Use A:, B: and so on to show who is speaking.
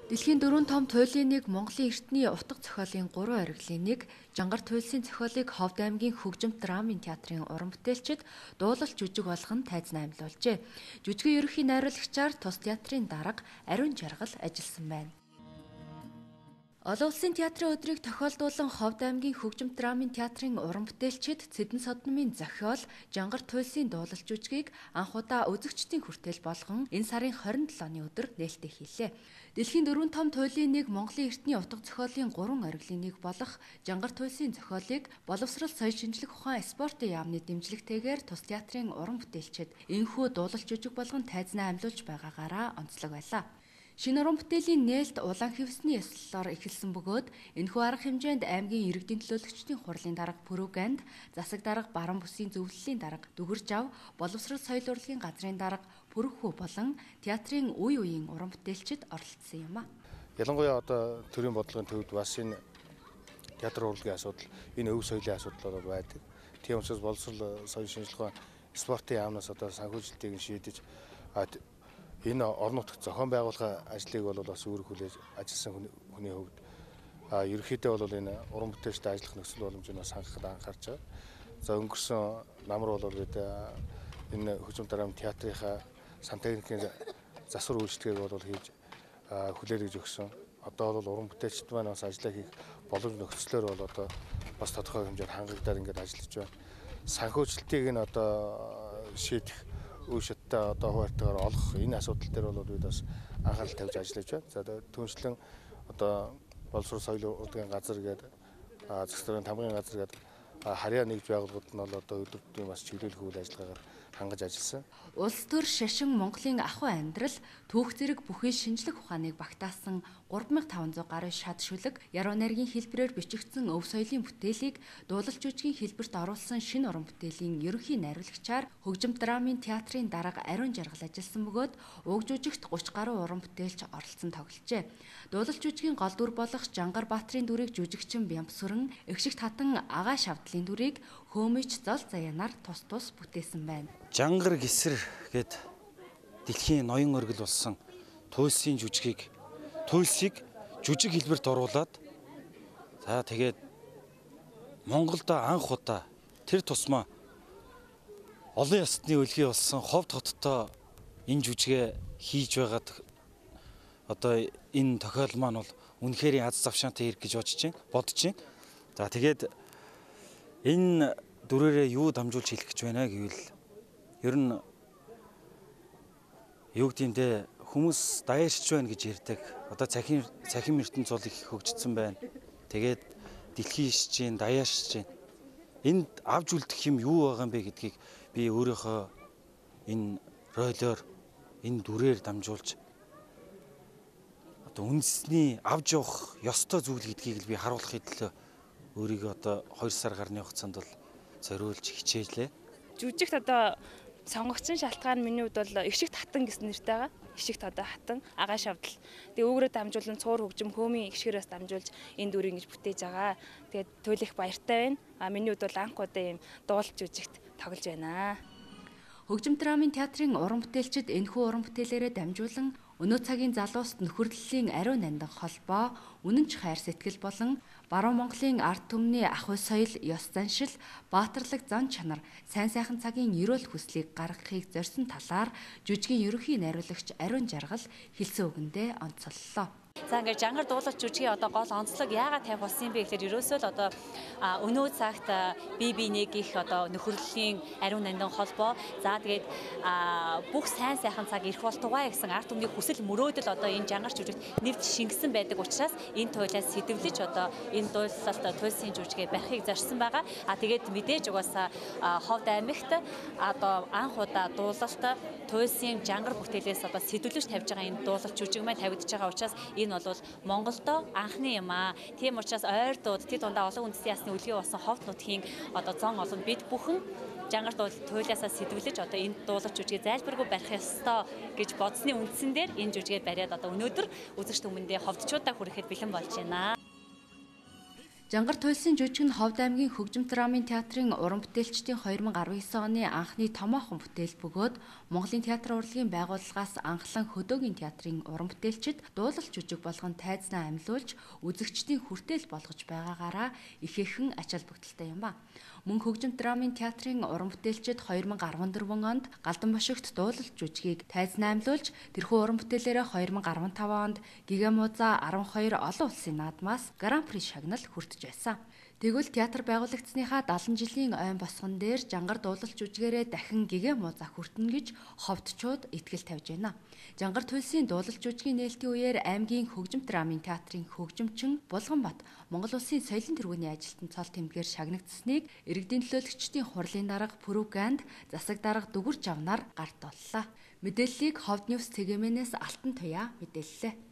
A: Дэлхийн 4 том туйлын нэг Монголын эртний утга зохиолын 3 ориглын нэг Жангар туйлсын зохиолыг Ховд аймгийн Хөгжимт драмын театрын уран бүтээлчид дуулалт жүжиг болгон тайзнаа амьлуулжээ. Жүжигийн ерөнхий найруулагчаар тус театрын дарга Ариун Жаргал ажилласан байна. Олон улсын театрын өдрийг тохиолдуулан Ховд аймгийн Хөгжимт драмын театрын уран бүтээлчид Цэдэн Содномын зохиол Жангар туйлсын дуулалт жүжигийг анх удаа үзэгчдийн хүртэл болгон энэ сарын 27-ны өдөр нээлттэй хийлээ. Дэлхийн 4 том туйлын нэг Монголын эртний утга зохиолын 3 ориглын нэг болох Жангар туйлсын зохиолыг боловсрал соёл шинжлэх ухаан спортын яамны дэмжлэгтэйгээр тус театрын уран бүтээлчид энэхүү дуулалт жүжиг болгон тайзнаа амьлуулж байгаагаараа онцлог байлаа. Шинэ уран бүтээлийн нээлт улаан хивсний ёслолоор эхэлсэн бөгөөд энэхүү арга хэмжээнд аймгийн иргэдийн төлөөлөгчдийн хурлын дарга Пүрүгэнд, засаг дарга Баран бүсийн зөвлөлийн дарга Дүгэржав, боловсрол соёл урлагийн газрын дарга Пүрхүү болон театрын үе үеийн уран бүтээлчид оролцсон юм а.
B: Ялангуяа одоо төрийн бодлогын төвд бас энэ театр урлагийн асуудал, энэ өв соёлын асуудал байдаг. Тийм учраас боловсрол соёл шинжлэх ухаан спортын яамнаас одоо санхүүжилтийг шийдэж энэ орон нутагт зохион байгуулах ажлыг бол бас үүрэг хүлээж ажилласан хүний хувьд ерөнхийдөө бол энэ уран бүтээлчтэй ажиллах нөхцөл боломжийг бас хангахад анхаарч байгаа. За өнгөрсөн намар бол энэ Хөгжимт драмын театрынхаа сан техникийн засвар үйлчлэгийг бол хийж хүлээлгэж өгсөн. Одоо бол уран бүтээлчд маань бас ажиллаа хийх боломж нөхцлөөр бол одоо бас тодорхой хэмжээнд хангагдаад ингээд ажиллаж байна. Санхүүжилтийг нь одоо шийдэх үе шаттай одоо хуваартаагаар олох энэ асуудал дээр бол бид бас анхаарал тавьж ажиллаж байна. За түүнчлэн одоо боловсрол соёл урлагийн газар гэдэг засаг даргын тамгын газар гэдэг харьяа нэгж байгууллагууд нь бол одоо өдөртөө бас чиглүүлэх үйл ажиллагаагаар хангаж ажилласан.
A: Улс төр шашин Монголын ахуй амьдрал түүх зэрэг бүхий шинжлэх ухааныг багтаасан 3500 гаруй шат шүлэг яруу найргийн хэлбэрээр бичигдсэн өв соёлын бүтээлийг дуулалт жүжигийн хэлбэрт оруулсан шинэ уран бүтээлийн ерөнхий найруулагчаар Хөгжимт драмын театрын дарга Ариун Жаргал ажилласан бөгөөд уг жүжигт 30 гаруй уран бүтээлч оролцсон тогложээ. Дуулалт жүжигийн гол дүр болох Жангар Баатрын дүрийг жүжигчин Бямбсүрэн, Эгшигт хатан Агаа Шавдлын дүрийг Хөөмич Зол Заяанаар тус бүтээсэн байна.
C: Жангар Гисэр гээд дэлхийн ноён оргил болсон туйлсын жүжигийг туйлсыг жүжиг хэлбэрт оруулаад за тэгээд Монголд анх удаа тэр тусмаа олон ястны үлгий болсон Ховд хоттой энэ жүжигээ хийж байгаад одоо энэ тохиол маань бол үнэхээр аз завшаантай хэрэг гэж бодож байна. За тэгээд энэ дүрээрээ юу дамжуулж хэлэх гэж байна гэвэл ер нь юу гэмдэ хүмүүс даяарч байна гэж ярьдаг. Одоо цахим ертөнц бол их хөгжсөн байна. Тэгээд дэлхийн шижийн даяарч байна. Энд авж үлдэх юм юу байгаа юм бэ гэдгийг би өөрийнхөө энэ ролиор энэ дүрээр дамжуулж одоо үндэсний авж явах ёстой зүйл гэдгийг би харуулахын төлөө өөрийгөө одоо 2 сар гарны хугацаанд бол зориулж хичээлээ.
D: Жүжигт одоо сонгогдсон шалтгаан миний хувьд бол Эгшигт хатан гэсэн нэртэй байгаа. Эгшигт одоо хатан Агаа Шавдал. Тэгээ өөрөөд дамжуулан цуур хөгжим Хөөмийн эгшгээрээс дамжуулж энэ дүрийг ингэж бүтээж байгаа. Тэгээд туйлах баяртай байна. Миний хувьд бол анх удаа ийм дуулалт жүжигт тоглож байна.
A: Хөгжимт драмын театрын уран бүтээлчид энэхүү уран бүтээлээрээ дамжуулан өнөө цагийн залууст нөхөрлөлийн ариун нандин холбоо, үнэнч хайр сэтгэл болон Баруун Монголын ард түмний ахуй соёл, ёс заншил, баатарлаг зан чанар, сайн сайхан цагийн эрүүл хүслийг гаргахыг зорьсон талаар жүжигийн ерөнхий найруулагч Ариун Жаргал хэлсэн үгэндээ онцоллоо.
E: За ингээд Жангар дуулалт жүжигийн одоо гол онцлог яагаад тавих болсон юм бэ гэхээр ерөөсөө л одоо өнөө цагт бие биенийг их одоо нөхөрлөлийн ариун нандин холбоо за тэгээд бүх сайн сайхан цаг ирэх болтугай гэсэн ард түмний хүсэл мөрөөдөл одоо энэ Жангар жүжигт нэвт шингэсэн байдаг учраас энэ туйлаас сэтвлэж одоо энэ дуулалт туйлсын жүжигээ барихыг зорьсон байгаа. Тэгээд мэдээж угаасаа Ховд аймагт одоо анх удаа дуулалт туйлсын Жангар бүтээлээс одоо сэтвлэж тавьж байгаа энэ дуулалт жүжиг маань тавигдж байгаа учраас энэ бол Монголдо анхны юм аа. Тийм учраас ойрдууд тэд дундаа олон үндэсний ясны үлгий болсон Ховд нутгийн одоо зон олон бид бүхэн Жангар туйлаасаа сэтвэлж одоо энэ дуулалт жүжигээ зайлбаргүй барих ёстой гэж бодсны үндсэн дээр энэ жүжигээ бариад одоо өнөөдөр үзэгч хүмүүндээ ховдчуудаа хүрэхэд бэлэн болж байна.
A: Жангар туйлсын жүжиг нь Ховд аймгийн Хөгжим драмын театрын уран бүтээлчдийн 2019 оны анхны томоохон бүтээл бөгөөд Монголын театрын урлагийн байгууллагаас анхлан хөдөөгийн театрын уран бүтээлчид дуулал жүжиг болгон тайзнаа амьлуулж үзэгчдийн хүртээл болгож байгаагаараа ихээхэн ач холбогдолтой юм ба. Мөн Хөгжим драмын театрын уран бүтээлчид 2014 онд Галдан бошигт дуулал жүжигийг тайзнаа амьлуулж тэрхүү уран бүтээлээрээ 2015 онд Гигамоза 12 олон улсын наадмаас Гран-при шагнал хүртэж байсан. Тэгвэл театр байгуулагдсныхаа 70 жилийн ойн босгон дээр Жангар дуулал жүжигээрээ дахин Гигамоза хүртэнэ гэж ховдчууд итгэл тавьж байна. Жангар туйлсын дуулал жүжигийн нээлтийн үеэр аймгийн Хөгжим драмын театрын хөгжимчин Булганбат Монгол Улсын соёлын тэргүүний ажилтан цол тэмдгээр шагнагдсаныг иргэдийн төлөөлөгчдийн хурлын дарга пропаганд засаг дарга Дүгүр Жавнаар гарт боллоо. Мэдээллийг Ховд Ньюс цэгийн Алтан Туяа мэдээллээ.